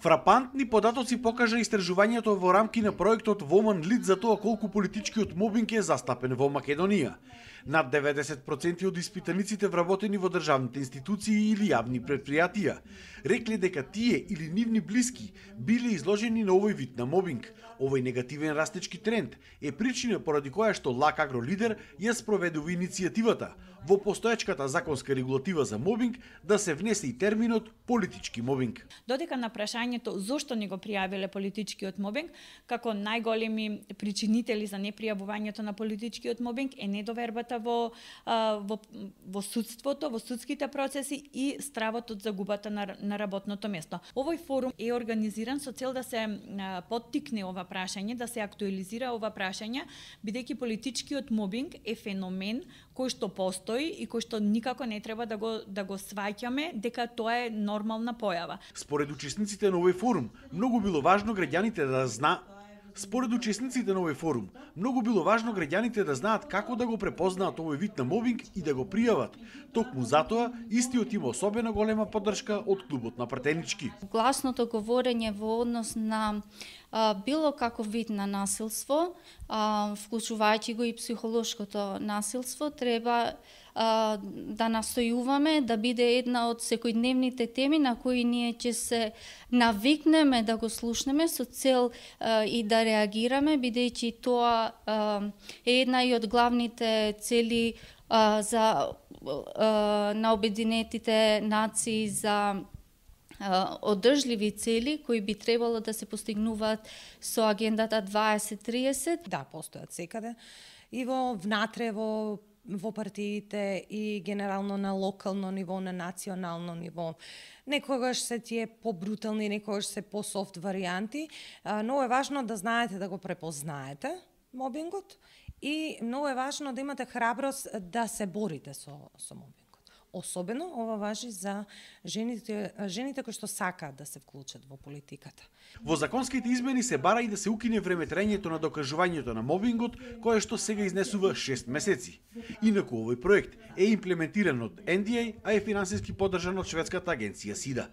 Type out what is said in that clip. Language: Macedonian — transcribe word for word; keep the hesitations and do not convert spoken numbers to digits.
Фрапантни податоци покажа истражувањето во рамки на проектот Women Lead за тоа колку политичкиот мобинг е застапен во Македонија. Над деветдесет проценти од испитаниците вработени во државните институции или јавни предпријатија рекле дека тие или нивни блиски биле изложени на овој вид на мобинг. Овој негативен растечки тренд е причина поради која што Лак Агро Лидер ја спроведува иницијативата во постоечката законска регулатива за мобинг да се внесе и терминот политички мобинг. Додека на прашањето зошто не го пријавиле политичкиот мобинг, како најголеми причинители за непријавувањето на политичкиот мобинг е недовербата во, во, во судството, во судските процеси и стравот од загубата на, на работното место. Овој форум е организиран со цел да се поттикне ова прашање, да се актуализира ова прашање, бидејќи политичкиот мобинг е феномен кој што постои и кој што никако не треба да го да го сваќаме дека тоа е нормална појава. Според учесниците на овој форум, многу било важно граѓаните да зна Според учесниците на овој форум, многу било важно граѓаните да знаат како да го препознаат овој вид на мобинг и да го пријават. Токму затоа, истиот има особено голема поддршка од клубот на пратенички. Гласното говорење во однос на а, било каков вид на насилство, а, вклучувајќи го и психолошкото насилство, треба а, да настојуваме да биде една од секојдневните теми на кои ние ќе се навикнеме да го слушнеме со цел а, и да реагираме, бидејќи тоа а, е една и од главните цели а, за а, на Обединетите нации за одржливи цели кои би требало да се постигнуваат со агендата дваесет триесет. Да, постојат секаде и во внатре во во партиите и генерално на локално ниво, на национално ниво. Некогаш се тие побрутални, некогаш се по-софт варијанти, но е важно да знаете да го препознаете мобингот и многу е важно да имате храброст да се борите со со мобингот. Особено ова важи за жените, жените кои што сакаат да се вклучат во политиката. Во законските измени се бара и да се укине времетрањето на докажувањето на мобингот, кое што сега изнесува шест месеци. Инаку овој проект е имплементиран од Ен Ди Еј, а е финансиски поддржан од шведската агенција СИДА.